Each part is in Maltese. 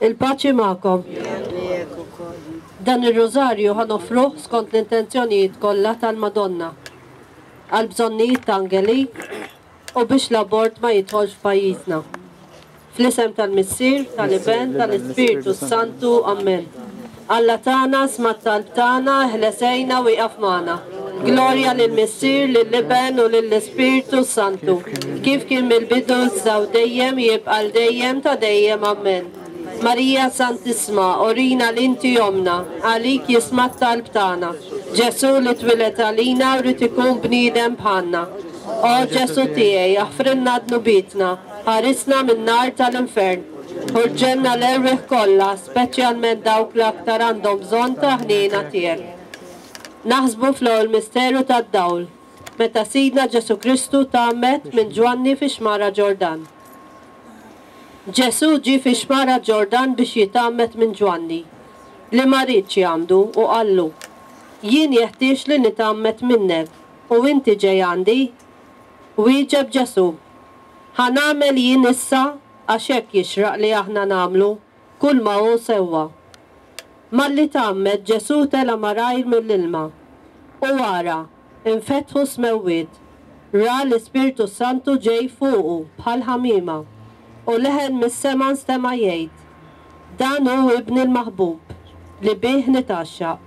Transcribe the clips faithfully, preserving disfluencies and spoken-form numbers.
Il-paċi magħkom. Dan ir-rużarju ħa noffruh skont l-intenzjonijiet kollha tal-Madonna, għal bżonnijiet ta' Angelique u biex l-abort ma jidħolx f'pajjiżna. Fl-isem tal-Missier, tal-Iben, tal-Ispirtu Santu, Amen. Alla tagħna, isma' t-talb tagħna, eħles għinna u ieqaf magħna. Glorja lill-Missier, lill-Iben u lill-Ispirtu Santu. Kif kien mill-bidu issa u dejjem jibqa' l dejjem ta' dejjem. Amen. Marija Santissima, urina li inti ommna, għalik jisma' t-talb tagħna. Ġesu li twieled għalina u ried ikun bniedem bħalna. O Ġesu tiegħi, aħfrilna dnubietna, ħarisna min-nar tal-infern. Ħu l-ġenna l-erwieħ kollha, speċjalment dawk li aktar għandhom bżonn ta' ħniena tiegħek. Naħsbu fl-ewwel misteru tad-dawl, meta Sidna Ġesu Kristu tgħammed minn Ġwanni fi xmara Ġordan. Ġesu ġie fi xmara Ġordan biex jitgħammed minn Ġwanni, li ma riedx jgħammdu u qallu, jien jeħtieġ li nitgħammed minnek u inti ġej għandi. Wieġeb Ġesu, ħa nagħmel jien issa għax hekk jixraq li aħna nagħmlu kull ma hu sewwa. Malli tgħammed Ġesu tela' malajr mill-ilma. U wara, infetħu s-smewwiet, ra l-Ispirtu Santu ġej fuqu bħal ħamima, u leħen mis-sema nstema' jgħid, dan hu ibni l-maħbub li bih nitgħaxxaq.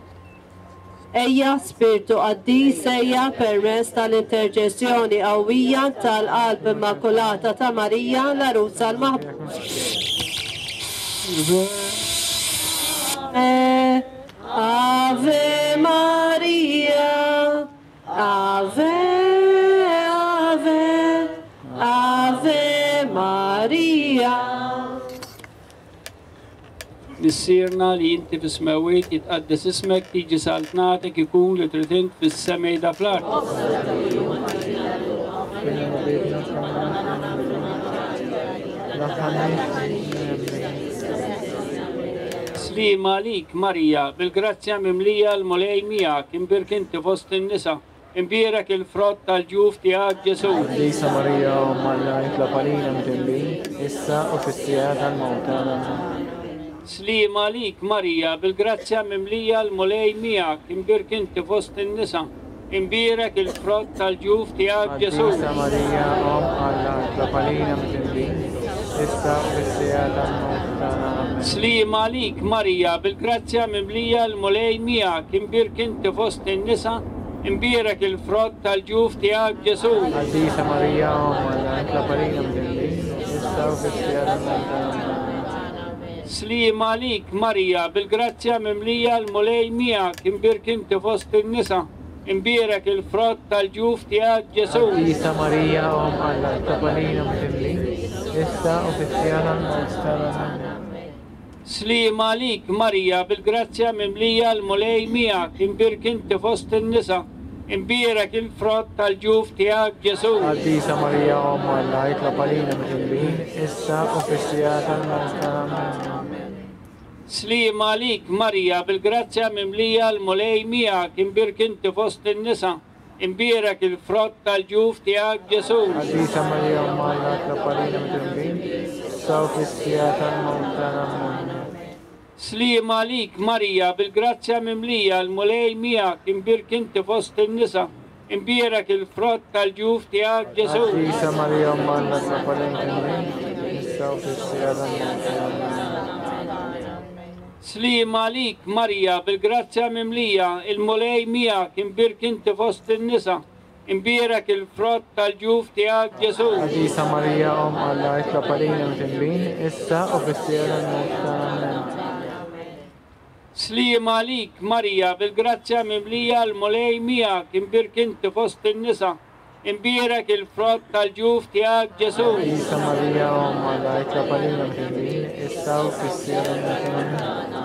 Ejja Spirtu Qaddis, ejja permezz tal-interċessjoni qawwija tal-Qalb Immakulata ta' Marija, l-Għarusa l-Maħbuba. Ave Maria, Ave, Ave, Ave Maria. Missierna li inti fis-smewwiet, jitqaddes ismek, tiġi saltnatek, ikun li trid int fis-sema da fl-art. Slima għalik Marija, bil-grazzja mimlija l-Mulej miegħek, imbierek inti fost in-nisa, imbierek il-frott tal-ġuf tiegħek Ġesu. Qaddisa Marija, Omm Alla, itlob għalina midinbin, issa u fis-siegħa tal-mewt tagħna. Slima għalik Marija, bil-grazzja mimlija l-Mulej miegħek, imbierek inti fost in-nisa, imbierek il-frott tal-ġuf tiegħek Ġesu. Qaddisa Marija, Omm Alla, itlob għalina midinbin, issa u fis-siegħa tal-mewt tagħna. Amen. Slima għalik Marija, bil-grazzja mimlija l-Mulej miegħek, imbierek inti fost in-nisa, imbierek il-frott tal-ġuf tiegħek Ġesu. Qaddisa Marija, Omm Alla, itlob għalina midinbin, issa u fis-siegħa tal-mewt tagħna. Slima għalik Marija, bil-grazzja mimlija l-Mulej miegħek, imbierek inti fost in-nisa, imbierek il-frott tal-ġuf tiegħek Ġesu. Qaddisa Marija, Omm Alla, itlob għalina midinbin, issa u fis-siegħa tal-mewt tagħna. Slima għalik Marija, bil-grazzja mimlija l-Mulej miegħek, imbierek inti fost in-nisa, imbierek il-frott tal-ġuf tiegħek Ġesu. Qaddisa Marija, Omm Alla, itlob għalina midinbin, issa u fis-siegħa tal-mewt tagħna. Slima għalik Marija, bil-grazzja mimlija l-Mulej miegħek, imbierek inti fost in-nisa, imbierek il-frott tal-ġuf tiegħek Ġesu. Qaddisa Marija, Omm Alla, itlob għalina midinbin, issa u fis-siegħa tal-mewt tagħna. Slima għalik Marija, bil-grazzja mimlija l-Mulej miegħek, imbierek inti fost in-nisa, imbierek il-frott tal-ġuf tiegħek Ġesu. Qaddisa Marija, Omm Alla, itlob għalina midinbin, issa u fis-siegħa tal-mewt tagħna. Slima għalik Marija, bil-grazzja mimlija il-Mulej miegħek, imbierek inti fost in-nisa, imbierek il-frott tal-ġuf tiegħek Ġesu. Qaddisa Marija, Omm Alla, itlob għalina midinbin, issa u fis-siegħa tal-mewt tagħna. Slima għalik Marija, bil-grazzja mimlija l-Mulej miegħek, imbierek inti fost in-nisa, imbierek il-frott tal-ġuf tiegħek Ġesu. Qaddisa Marija, Omm Alla, itlob għalina midinbin, issa u fis-siegħa tal-mewt tagħna.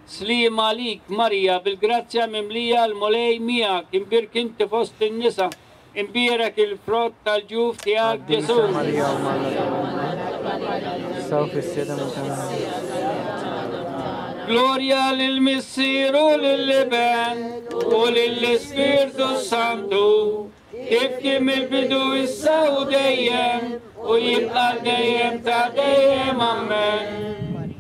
Slima għalik Marija, bil-grazzja mimlija l-Mulej miegħek, imbierek inti fost in-nisa, imbierek il-frott tal-ġuf tiegħek Ġesu. Qaddisa Marija, Omm Alla, issa u fis-siegħa tal-mewt tagħna. Glorja lill-Missier u lill-Iben u lill-Ispirtu Santu, kif kien mill-bidu issa u dejjem u jibqa' dejjem ta' dejjem. Amen.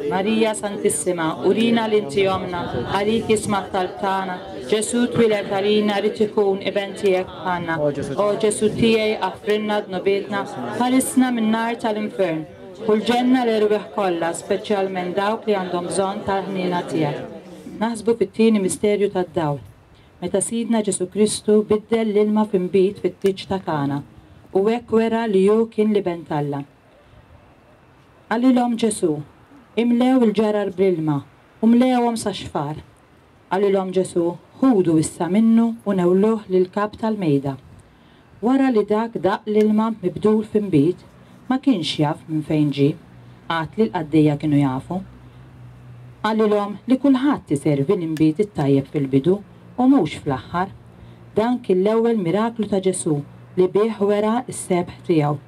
Marija Santissima, urina li inti omna, għalik jisma' t-talb tagħna. Ġesu twieled għalina rid ikun iben tiegħek bħalna. O Ġesu tiegħi aħfrilna dnubietna, ħarisna min-nar tal-infern. U l-ġenna l-erwieħ kollha, speċjalment dawk li għandhom bżonn tal-ħniena tiegħek. Naħsbu fit-tieni misterju tad-dawl. Meta Sidna Ġesu Kristu biddel l-ilma f'inbid fit-tieġ ta' Kana u hekk wera li hu kien l-iben t'Alla. Qalilhom Ġesu, imlew il-ġarar bl-ilma u mlewhom sa xfar. Qalilhom Ġesu, ħudu issa minnu u newluh lil-kap tal-mejda. Wara li dak daq l-ilma mibdul f'inbid, ma kienx jaf minn fejn ġie, għad li l-qaddejja kienu jafu. Qalilhom li kulħadd iservi l-inbid it-tajjeb fil-bidu u mhux fl-aħħar. Dan kien l-ewwel miraklu ta' Ġesu li bih wera s-sebħ tiegħu.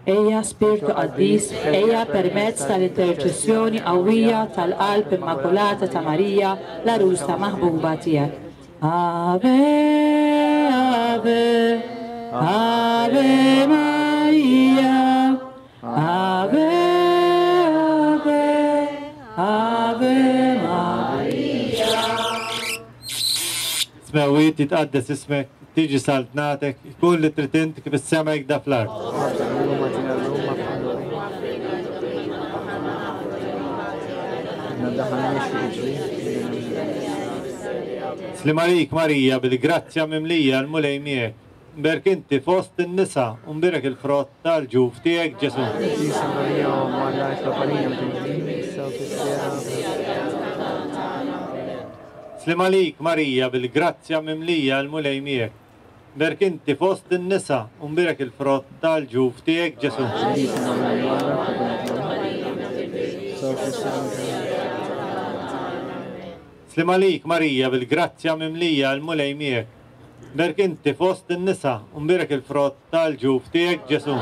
Ejja Spirtu Qaddis, ejja permezz tal-interċessjoni qawwija tal-Qalb Immakulata ta' Marija, l-għarusa maħbuba tiegħek. Ave, Ave, Ave Maria, Ave, Ave, Ave Maria. Smewwiet jitqaddes ismek, tiġi saltnatek, ikun li trid int kif is-sema jekk fl-art. Sliem għalik Marija, bil-grazzja mimlija l-Mulej miegħek. Mbierek inti fost in-nisa u mbierek il-frott tal-ġuf tiegħek Ġesu. Sliem għalik Marija, bil-grazzja mimlija l-Mulej miegħek. Mbierek inti fost in-nisa u mbierek il-frott tal-ġuf tiegħek Ġesu. Sliem għalik Marija, bil-grazzja mimlija l-Mulej miegħek. Mbierek inti fost in-nisa u mbierek il-frott tal-ġuf tiegħek Ġesu.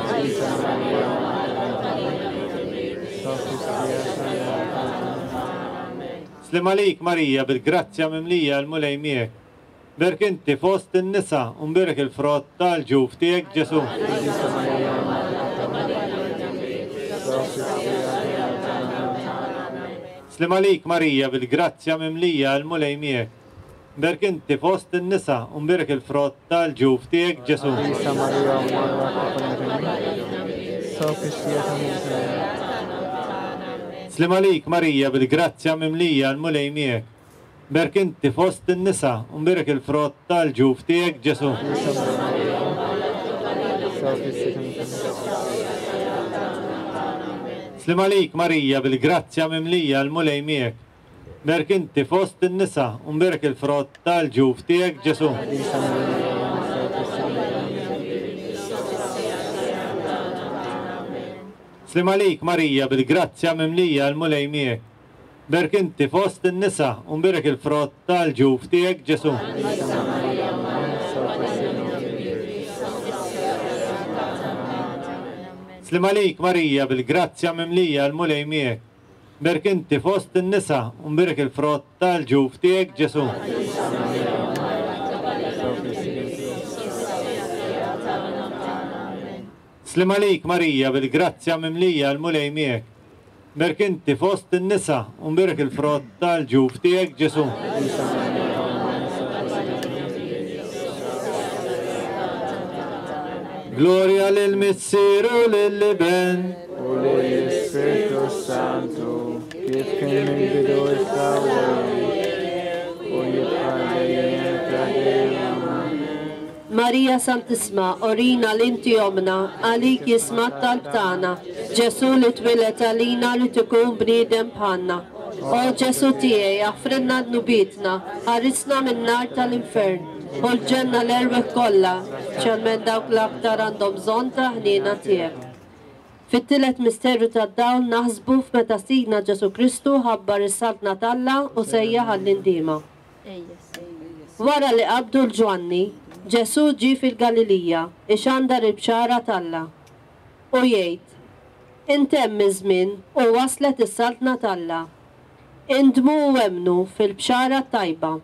Sliem għalik Marija, bil-grazzja mimlija l-Mulej miegħek. Mbierek inti fost in-nisa u mbierek il-frott tal-ġuf tiegħek Ġesu. Sliem għalik Marija, bil-grazzja mimlija l-Mulej miegħek. Mbierek inti fost in-nisa u mbierek il-frott tal-ġuf tiegħek Ġesu. Sliem għalik Marija, bil-grazzja mimlija l-Mulej miegħek. Mbierek inti fost in-nisa u mbierek il-frott tal-ġuf tiegħek Ġesu. Sliem għalik Marija, bil-grazzja mimlija l-Mulej miegħek. Mbierek inti fost in-nisa u mbierek il-frott tal-ġuf tiegħek Ġesu. Sliem għalik Marija, bil-grazzja mimlija l-Mulej miegħek. Mbierek inti fost in-nisa u mbierek il-frott tal-ġuf tiegħek Ġesu. Sliem għalik Marija, bil-grazzja mimlija l-Mulej miegħek. Mbierek inti fost in-nisa u mbierek il-frott tal-ġuf tiegħek Ġesu. Sliem għalik Marija, bil-grazzja mimlija l-Mulej miegħek. Mbierek inti fost in-nisa u mbierek il-frott tal-ġuf tiegħek Ġesu. Gloria lil Missier u lill-Iben u lill-Ispirtu Santu, kif kien mill-bidu issa u dejjem u jibqa' dejjem ta' dejjem. Marija Santissima, orina li inti omna, għalik jisma' t-talb tagħna. Ġesu li twieled għalina li tkun bniedem bħalna. O Ġesu tiegħi, aħfrilna dnubietna, ħarisna min-nar tal-infern. U l-ġenna l-erwieħ kollha, speċjalment dawk l-aktar għandhom bżonn ta' ħniena tiegħek. Fit-tielet misteru tad-dawl naħsbu f'meta Sidna Ġesu Kristu ħabbar is-saltna t'Alla u sejjaħ għall-indiema. Wara li qabdu l-Ġwanni, Ġesu ġie fil-Galilija ixandar il-bxara t'Alla. U jgħid, intemm iż-żmien u waslet is-saltna t'Alla. Indmu u emmnu fil-bxara tajba.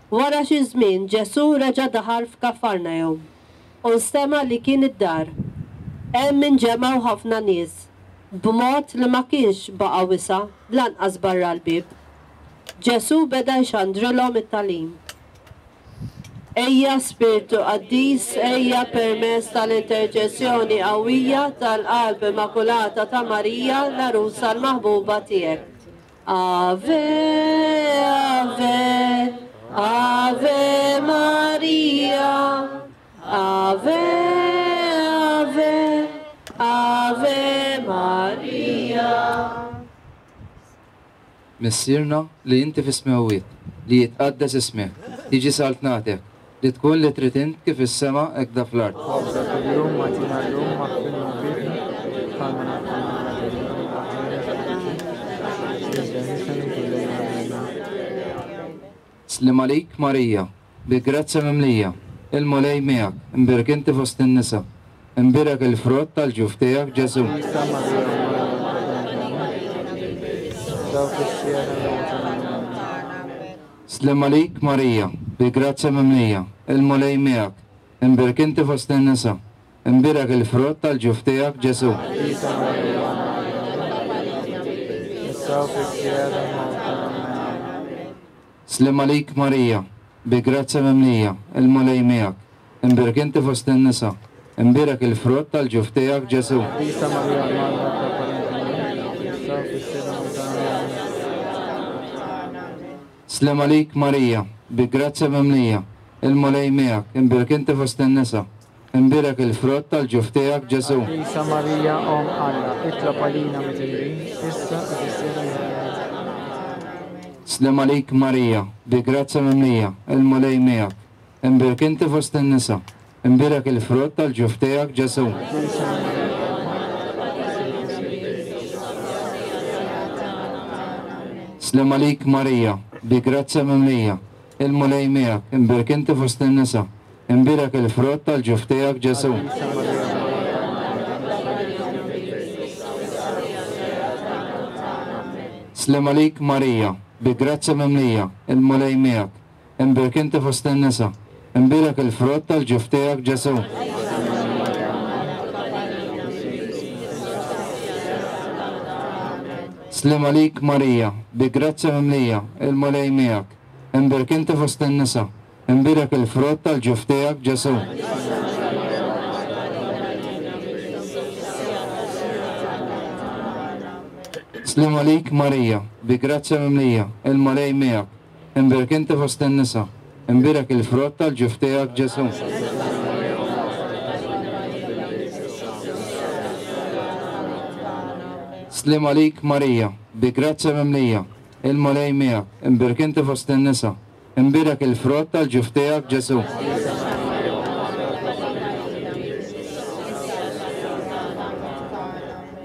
Wara xi żmien Ġesu reġa' daħal f'Kafarnahum u nstema' li kien id-dar. Hemm inġemgħu ħafna nies b'mod li ma kienx baqa' wisa' lanqas barra l-bieb. Ġesù beda jxandrilhom it-tagħlim. Ejja Spirtu Qaddis, ejja permezz tal-interċessjoni qawwija tal-Qalb Immakulata ta' Marija, l-għarusa l-maħbuba tiegħek. Ave, Ave, Ave Maria, Ave, Ave, Ave Maria. Missierna li inti fis-smewwiet, li jitqaddes ismek, tiġi saltnatek, li tkun li trid int kif is-sema hekk da fl-art. Ħobża kuljum agħtina llum, aħfrilna dnubietna, bħalma naħfru aħna. Sliem għalik Marija, bi grazzja mimlija, il-Mulej miegħek, imbierek inti fost in-nisa, imbierek il-frott tal-ġuf tiegħek Ġesù. Sliem għalik Marija, bi grazzja mimlija, il-Mulej miegħek, imbierek inti fost in-nisa, imbierek il-frott tal-ġuf tiegħek Ġesù. Sliem għalik Marija, bi grazzja mimlija, il-Mulej miegħek, imbierek inti fost in-nisa, imbierek il-frott tal-ġuf tiegħek Ġesù. Sliem għalik Marija, bi grazzja mimlija, il-Mulej miegħek, imbierek inti fost in-nisa, imbierek il-frott tal-ġuf tiegħek Ġesù. Qaddisa Marija, Omm Alla, itlob għalina midinbin, issa u fis-siegħa tal-mewt. Sliem għalik Marija, bi grazzja mimlija, il-Mulej miegħek, imbierek inti fost in-nisa, imbierek il-frott tal-ġuf tiegħek Ġesù. Sliem għalik Marija, bi grazzja mimlija, il-Mulej miegħek, imbierek inti fost in-nisa, imbierek il-frott tal-ġuf tiegħek Ġesù. Sliem għalik Marija, bi grazzja mimlija, il-Mulej miegħek, imbierek inti fost in-nisa, imbierek il-frott tal-ġuf tiegħek Ġesù. Sliem għalik Marija, bi grazzja mimlija, il-Mulej miegħek, imbierek inti fost in-nisa, imbierek il-frott tal-ġuf tiegħek Ġesù. Sliem għalik Marija, bi grazzja mimlija, il-Mulej miegħek, imbierek inti fost in-nisa, imbierek il-frott tal-ġuf tiegħek Ġesù. Sliem għalik Marija, bi grazzja mimlija, il-Mulej miegħek, imbierek inti fost in-nisa, imbierek il-frott tal-ġuf tiegħek Ġesù.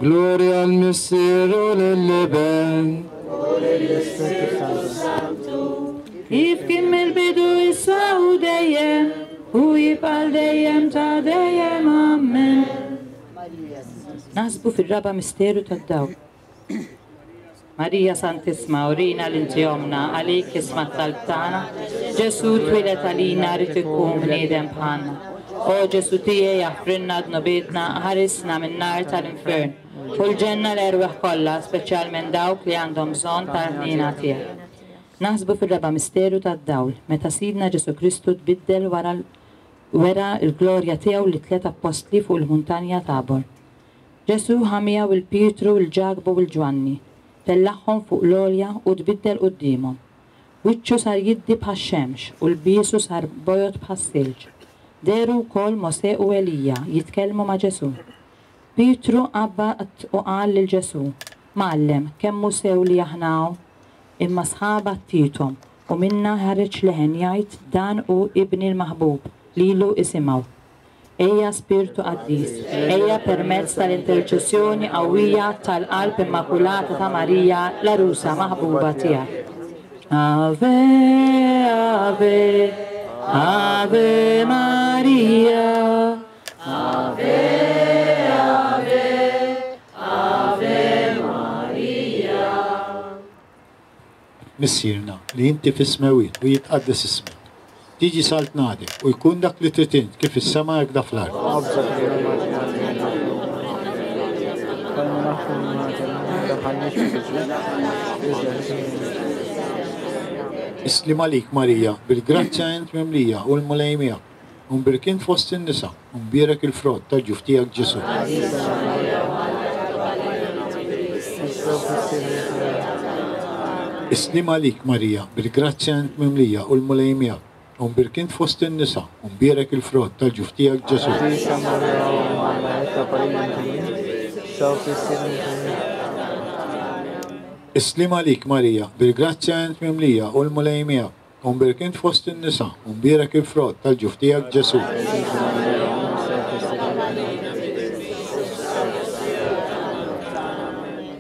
Gloria al Missier u lill-Iben u lill-Ispirtu Santu, kif kien mill-bidu issa u dejjem u jibqa' dejjem ta' dejjem. Amen. Naħsbu fir-raba' misteru tad-dawl. Marija Santissima, urina l-inti omna, għalik isma' t-talb tagħna. Ġesù twieled għalina rid ikun bniedem bħalna. O Ġesù tiegħi, aħfrilna dnubietna, ħarisna min-nar tal-infern. U l-ġenna l-erwieħ kollha, speċjalment dawk li għandhom bżonn tal-ħniena tiegħek. Naħsbu fir-raba' misteru tad-dawl, meta Sidna Ġesù Kristu tbiddel wara wera l-glorja tiegħu li tliet appostli fuq il-muntanja Tabor. Ġesù ħa miegħu il-Pietru, il-Ġakbu u l-Ġwanni, tellagħhom fuq l-għolja u tbiddel quddiemhom. Wiċċu sar jiddi bħax-xemx u l-biesu sar bojod bħas-silġ. Dehru wkoll Mosè u Elija jitkellmu ma' Ġesù. Pietru qabad u qal lil Ġesù, Mgħallem, kemm hu sew li aħna hawn? Imma sħaba ttiethom u minna ħareġ leħen jgħid dan hu ibni l-maħbub, lilu isimgħu. Ejja Spirtu Qaddis, ejja permezz tal-interċessjoni qawwija tal-Qalb Immakulata ta' Marija, l-għarusa maħbuba tiegħek. Ave, Ave, Ave Maria. Ave, Ave, Ave Maria. Missierna li inti fis-smewwiet u jitqaddes ismek. Tiġi saltnatek u jkun dak li trid int kif is-sema hekk da fl-art. Ħobża kuljum agħtina llum, bħalma naħfru Is-sliem għalik Marija, bil-grazzja int mimlija u l-Mulej miegħek. U mbierek int fost in-nisa, u mbierek il-frott tal-ġuf tiegħek Ġesù. Is-sliem għalik Marija, bil-grazzja int mimlija u l-Mulej miegħek. U mbierek int fost in-nisa, u mbierek il-frott tal-ġuf tiegħek Ġesù. Is-sliem għalik Marija, bil-grazzja int mimlija u l-Mulej miegħek. U mbierek int fost in-nisa, u mbierek il-frott tal-ġuf tiegħek Ġesù.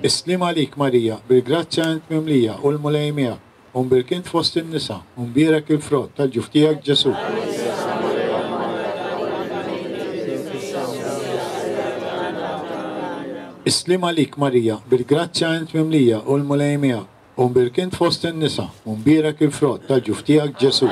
Is-sliem għalik Marija, bil-grazzja int mimlija u l-Mulej miegħek. U mbierek int fost in-nisa, u mbierek il-frott tal-ġuf tiegħek Ġesù. Is-sliem għalik Marija, bil-grazzja int mimlija u l-Mulej miegħek. U mbierek int fost in-nisa, u mbierek il-frott tal-ġuf tiegħek Ġesù.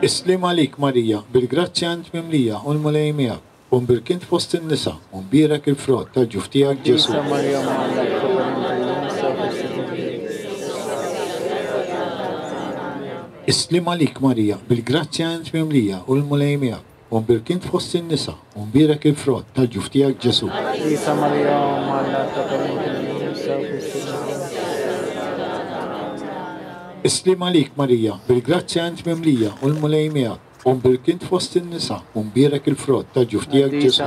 Is-sliem għalik Marija, bil-grazzja int mimlija u l-Mulej miegħek. U mbierek int fost in-nisa, u mbierek il-frott tal-ġuf tiegħek Ġesù. Is-sliem għalik Marija, bil-grazzja int mimlija u l-Mulej miegħek. U mbierek int fost in-nisa, u mbierek il-frott tal-ġuf tiegħek Ġesù. Is-sliem għalik Marija, bil-grazzja int mimlija u l-Mulej miegħek. U mbierek int fost in-nisa, u mbierek il-frott tal-ġuf tiegħek Ġesù.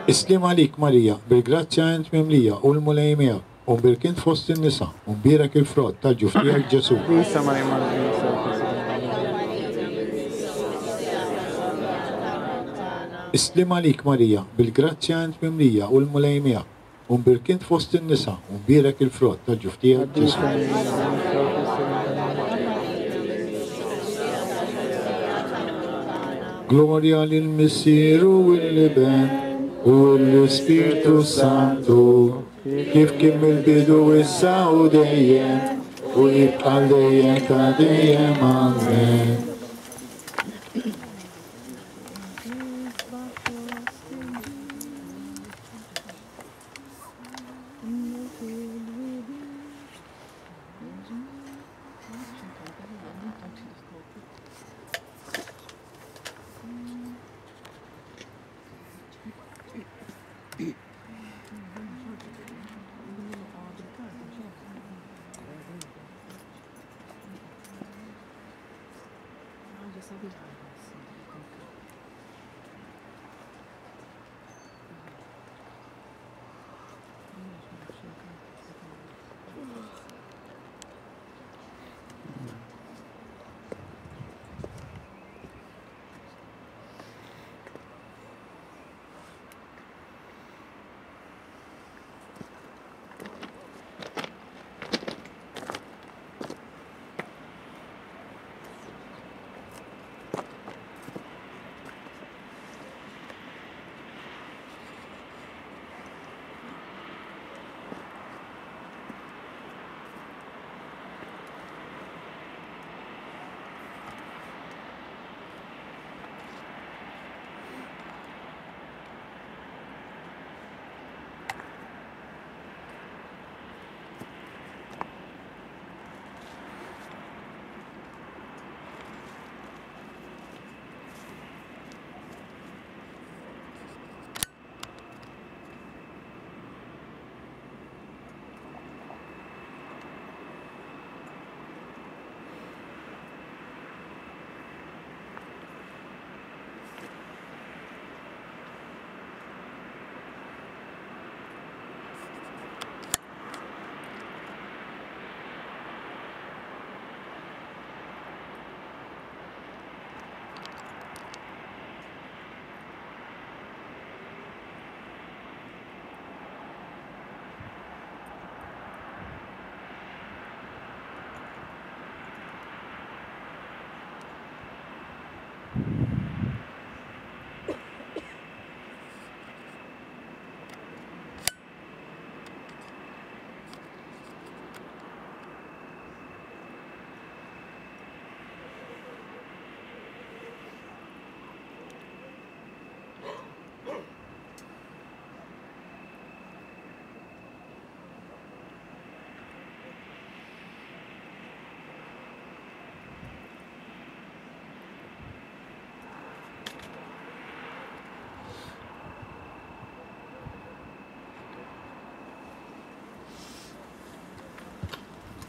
Is-sliem għalik Marija, bil-grazzja int mimlija u l-Mulej miegħek. U mbierek int fost in-nisa, u mbierek il-frott tal-ġuf tiegħek Ġesù. Is-sliem għalik Marija, bil-grazzja int mimlija u l-Mulej miegħek. U mbierek int fost in-nisa, u mbierek il-frott tal-ġuf tiegħek Ġesù. Glorja lill-Missier u l-Iben u l-Ispirtu Santu, kif kien mill-bidu issa u dejjem, u jibqa' dejjem ta' dejjem. Amen.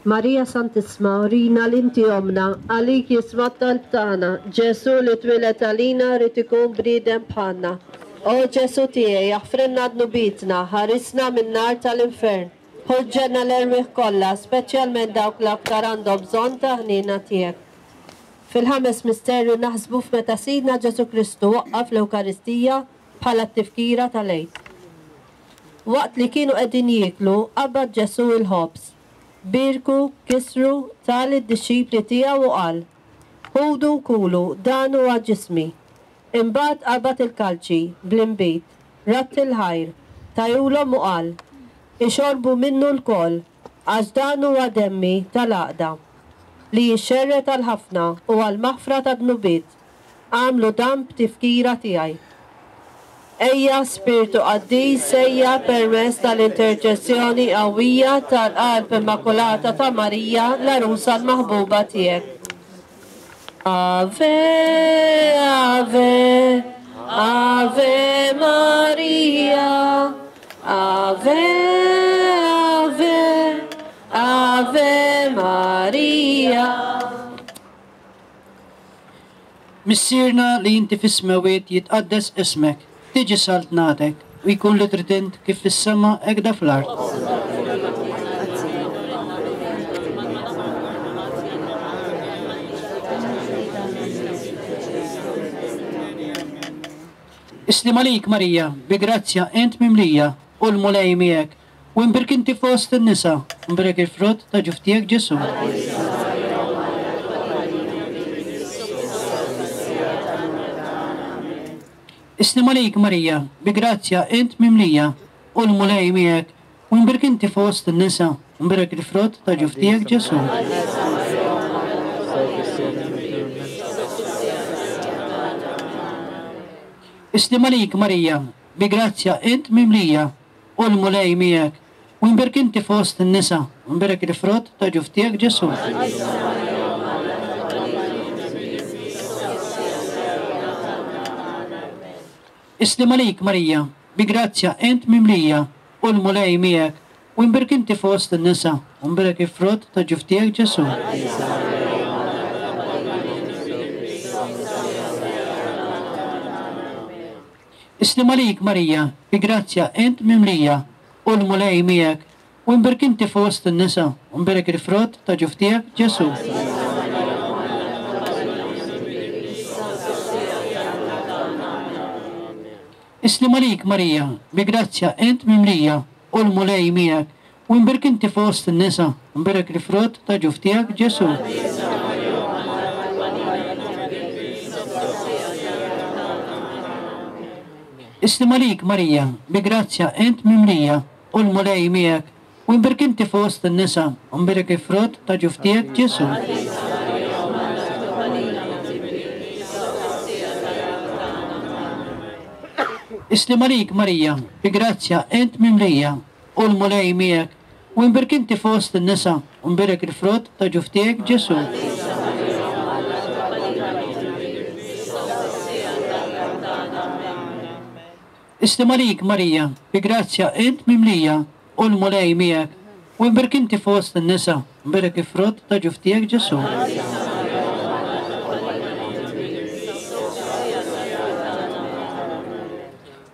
Marija Santissima, urina l-inti omna, għalik jisma' t-talb tagħna. Ġesu li twieled għalina rrid ikun bniedem bħalna. O Ġesu tiegħi, aħfrilna dnubietna, ħarisna min-nar tal-infern. Ħu l-ġenna l-erwieħ kollha, speċjalment dawk l-aktar għandhom bżonn ta' ħniena tiegħek. Fil-ħames misterju naħsbu f'meta Sidna Ġesu Kristu waqqaf l-Ewkaristija bħala t-tifkira tal-Għid. Waqt li kienu qegħdin jieklu, qabad Ġesu il-ħobż. Birku, kisru, ta lid-dixxipli tiegħu u qal: Ħudu kulu, dan huwa ġismi. Imbagħad qabad il-kalċi bl-inbid, radd il-ħajr, tajulhom u qal: Ixorbu minnu lkoll, għax dan huwa demmi tal-għaqda, li jixxerred għal ħafna u għall-maħfra tad-dnubiet. Għamlu dan b'tifkira tiegħi. Ejja Spiritu Qaddis, ejja permezz tal-interċessjoni qawwija tal-Qalb Immakulata ta' Marija, l-għarusa l-maħbuba tiegħek. Ave, Ave, Ave Maria, Ave, Ave, Ave Maria. Missierna li inti fis-smewwiet jitqaddes ismek, tiġi saltnatek u jkun li trid int kif fis-sema hekk fl-art. Islim għalik Marija, bi grazzja int mimlija u l-Mulej miegħek, u imbierek inti fost in-nisa, imbierek il-frott ta' ġuf tiegħek Ġesu. Islim għalik Marija, bi grazzja int mimlija u l-Mulej miegħek, u imbierek inti fost in-nisa, imbierek il-frott ta' ġuf tiegħek Ġesu. Islim għalik Marija, bi grazzja int mimlija u l-Mulej miegħek, u imbierek inti fost in-nisa, imbierek il-frott ta' ġuf tiegħek Ġesu. Islim għalik Marija, bi grazzja int mimlija u l-Mulej miegħek, u imbierek inti fost in-nisa, imbierek il-frott ta' ġuf tiegħek Ġesu. Islim għalik Marija, bi grazzja int mimlija u l-Mulej miegħek, u imbierek inti fost in-nisa, imbierek il-frott ta' ġuf tiegħek Ġesu. Islim għalik Marija, bi grazzja int mimlija u l-Mulej miegħek, u imbierek inti fost in-nisa, imbierek il-frott ta' ġuf tiegħek Ġesu. Islim għalik Marija, bi grazzja int mimlija u l-Mulej miegħek, u imbierek inti fost in-nisa, imbierek il-frott ta' ġuf tiegħek Ġesu. Islim għalik Marija, bi grazzja int mimlija u l-Mulej miegħek, u imbierek inti fost in-nisa, imbierek il-frott ta' ġuf tiegħek Ġesu. Islim għalik Marija, bi grazzja int mimlija u l-Mulej miegħek, u imbierek inti fost in-nisa, imbierek il-frott ta' ġuf tiegħek Ġesu.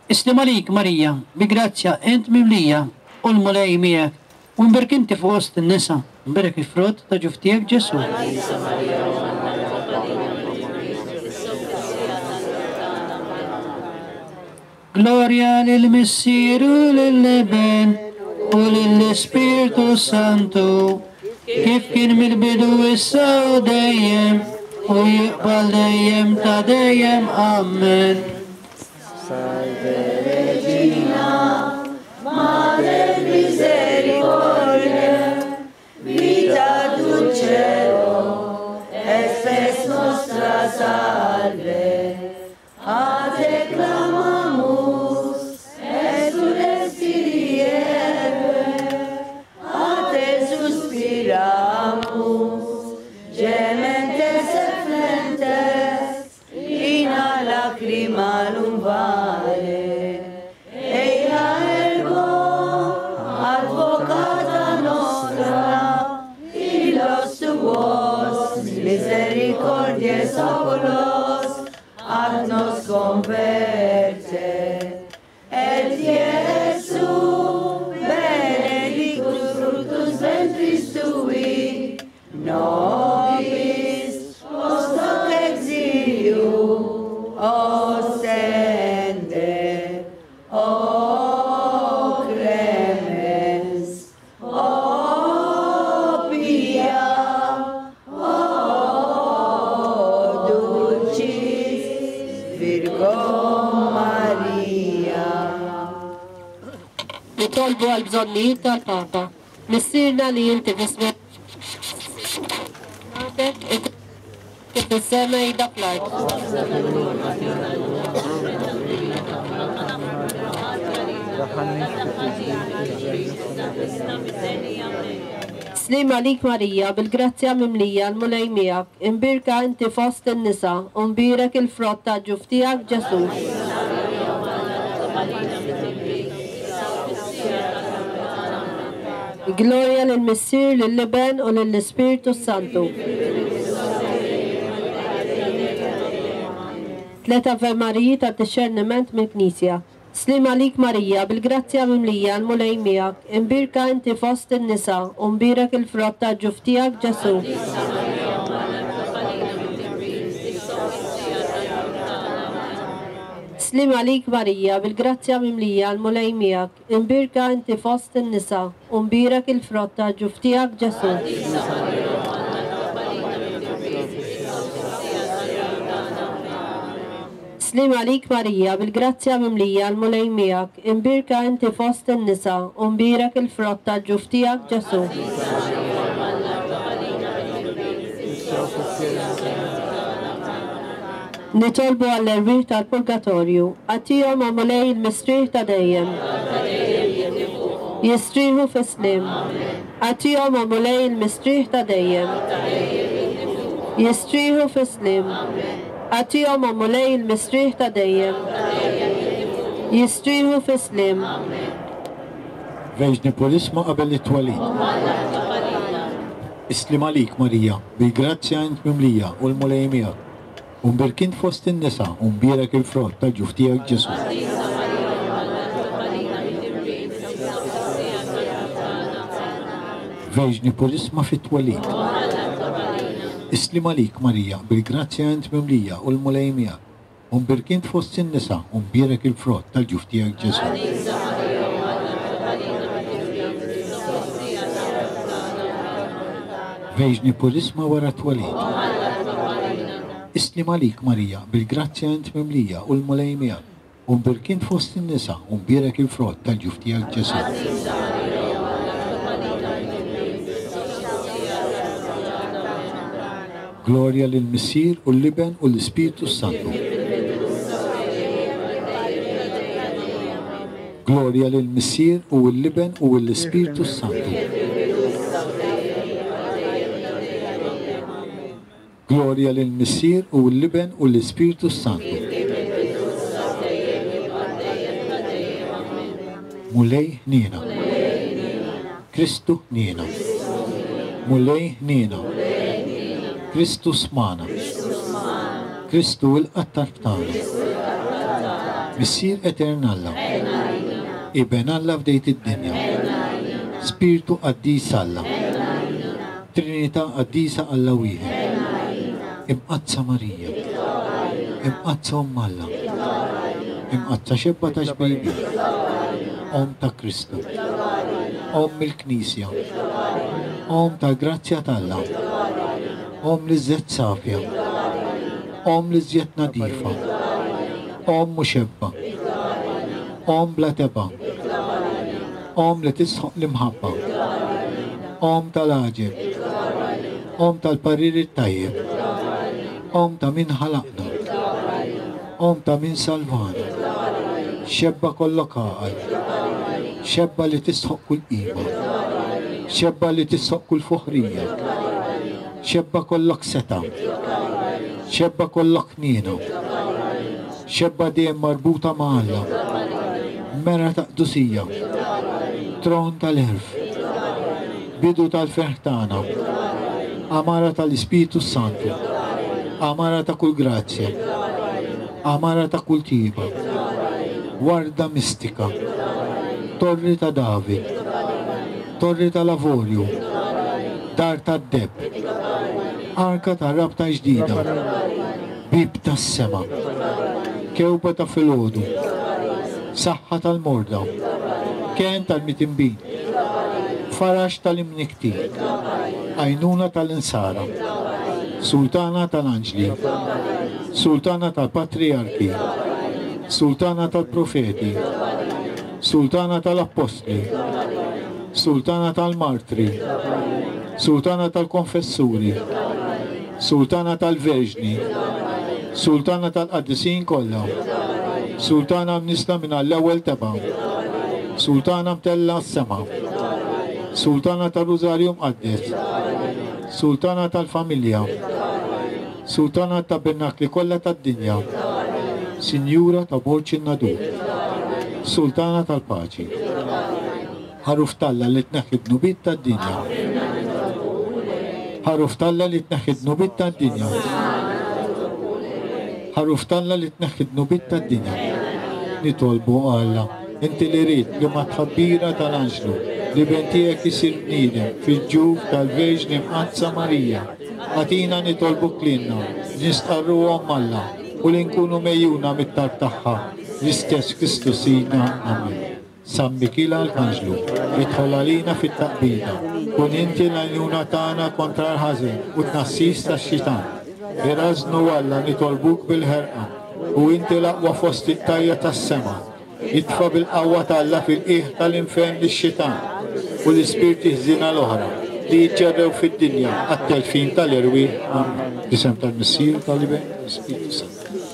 Islim għalik Marija, bi grazzja int mimlija u l-Mulej miegħek, u imbierek inti fost in-nisa, imbierek il-frott ta' ġuf tiegħek Ġesu. Gloria lill-Missier u lill-Iben u lill-Ispirtu Santu, kif kien mill-bidu issa u dejjem u jibqa' dejjem ta' dejjem. Amen. Salve Regina, Mater misericordiae, vita dulcedo, et spes nostra salve. A te clamamus, exules filii Evae, a te suspiramus, gementes et flentes, in a lacrimarum vale. Eia ergo, advocata nostra, Misericordias oculos ad nos converte. Et Iesu benedictus fructus ventris tui, nobis post hoc exilium ostende. O clemens, o pia, o dulcis Virgo Maria. Nitolbu għal bżonnijiet tal-Papa. Missierna li inti fis-sema kif fis-sema ida fl-art. Slim għalik Marija, bil-grazzja mimlija l-Mulej miegħek, imbierka inti fost in-nisa, u mbierek il-frott ta' ġuf tiegħek Ġesù. Gloria lill-Missier, lill-Iben u lill-Ispirtu Santu. Tliet Ave Mariji ta' dixxerniment mill-Knisja. Slim għalik Marija, bil-grazzja mimlija l-Mulej miegħek, imbierka inti fost in-nisa, u mbierek il-frott ta' ġuf tiegħek Ġesù. Slim għalik Marija, bil-grazzja mimlija l-Mulej miegħek, imbierka inti fost in-nisa, u mbierek il-frott ta' ġuf tiegħek Ġesù. Slim għalik Marija, bil-grazzja mimlija l-Mulej miegħek, imbierka inti fost in-nisa, u mbierek il-frott ta' ġuf tiegħek Ġesù. Nitolbu għall-erwieħ tal-purgatorju, għatihom o Mulej il-mistrieħ ta' dejjem. Jistrieħu fis-sliem. Għatihom o Mulej il-mistrieħ ta' dejjem. Jistrieħu fis-sliem. Għatihom o Mulej il-mistrieħ ta' dejjem. Jistrieħu fis-sliem. Verġni Purisma qabel it-twelid. Islim għalik Marija, bil-grazzja int mimlija u l-Mulej miegħek. U mbierkin fost in-nisa u mbierek il-frott tal-ġuf tiegħek Ġesù. Verġni Purisma fit-twelid. Islim għalik Marija, bil-grazzja int mimlija u l-Mulej miegħek. U mbierkin fost in-nisa u mbierek il-frott tal-ġuf tiegħek Ġesù. Verġni Purisma wara t-twelid. Islim għalik Marija, bil-grazzja int mimlija u l-Mulej miegħek. U mbierkin fost in-nisa u mbierek il-frott tal-ġuf tiegħek Ġesù. Gloria lill-Missier u l-Iben u l-Ispirtu Santu. Gloria lill-Missier u l-Iben u l-Ispirtu Santu. Gloria lill-Missier u l-Iben u l-Ispirtu Santu. Mulej ħniena. Kristu ħniena. Mulej ħniena. Kristu smana. Kristu il-qattar tagħna. Missier Etern Alla. Iben Alla fdejt id-dinja. Spiritu Qaddis Alla. Trinità Qaddisa Alla wieħed. Imqaddsa Marija. Imqaddsa Omm Alla. Imqaddsa xebba ta' xbejbi. Omm ta' Kristu. Omm il-Knisja. Omm tal-grazzja t'Alla. Omm li żżed safja. Omm li żjed nadifa. Omm muxebba. Omm bla teba. Omm li tisħoq l-imħabba. Omm tal-għaġeb. Omm tal-parir it-tajjeb. Omm ta' min ħalaqna. Omm ta' min salvana. Xebba kollok għaqal. Xebba li tisħoq kull qima. Xebba li tisħoq kull fuħrija. Xebba kollok seta. Xebba kollok ħniena. Xebba dejjem marbuta ma' Alla. Mera ta' qdusija. Tron tal-għerf. Bidu tal-ferħ tagħna. Għamara tal-Ispiritu Santu, għamara ta' kull grazzja, għamara ta' kull tiba, warda mistika, torri ta' David, torri tal-avorju, dar tad-deb, arka ta' rabta ġdida, bib tas-sema, kewba ta' filgħodu, saħħa tal-morda, ken tal-mitinbin, farax tal-imnikti, għajnuna tal-insara, sultana tal-anġli, sultana tal-patriarki, sultana tal-profeti, sultana tal-appostli, sultana tal-martri, sultana tal-konfessuri, sultana tal-verġni, sultana tal-qaddisin kollha, sultana mnisla minn l-ewwel teba', sultana mtella s-sema, sultana tal-Rużarju Mqaddes, sultana tal-familja, sultana tabernakli kollha tad-dinja, sinjura ta' Borġ in-Nadur, sultana tal-paċi, ħaruf t'Alla li tneħħi dnubiet tad-dinja, ħaruf t'Alla li tneħħi dnubiet tad-dinja, ħaruf t'Alla li tneħħi dnubiet tad-dinja. Nitolbu Alla, inti li rid li ma tħabbira tal-anġlu li ben tiegħek isir bniedem fil-ġuf tal-Verġni Mqaddsa Marija, agħtina nitolbuk lilna, nistqarruhom Alla u li nkunu mejjuna mit-talb tagħha, l-istess Kristu Sidna. Amen. San Mikiel Arkanġlu, idħol għalina fit-taqbida, kun inti l-għajnuna tagħna kontra l-ħażin u t-tnassis tax-xitan. Irażnu Alla nitolbuk bil-ħerqa, u inti l-aqwa fost it-tajja tas-sema. Itfa' bil-qawwa t'Alla fil-qiegħ tal-infern lix-xitan u l-ispirti ħżiena l-oħra li jiġġerrew fid-dinja għat-telfin tal-erwieħ. Amen. B'isem tal-Missier, tal-Iben, tal-Ispirtu Santu.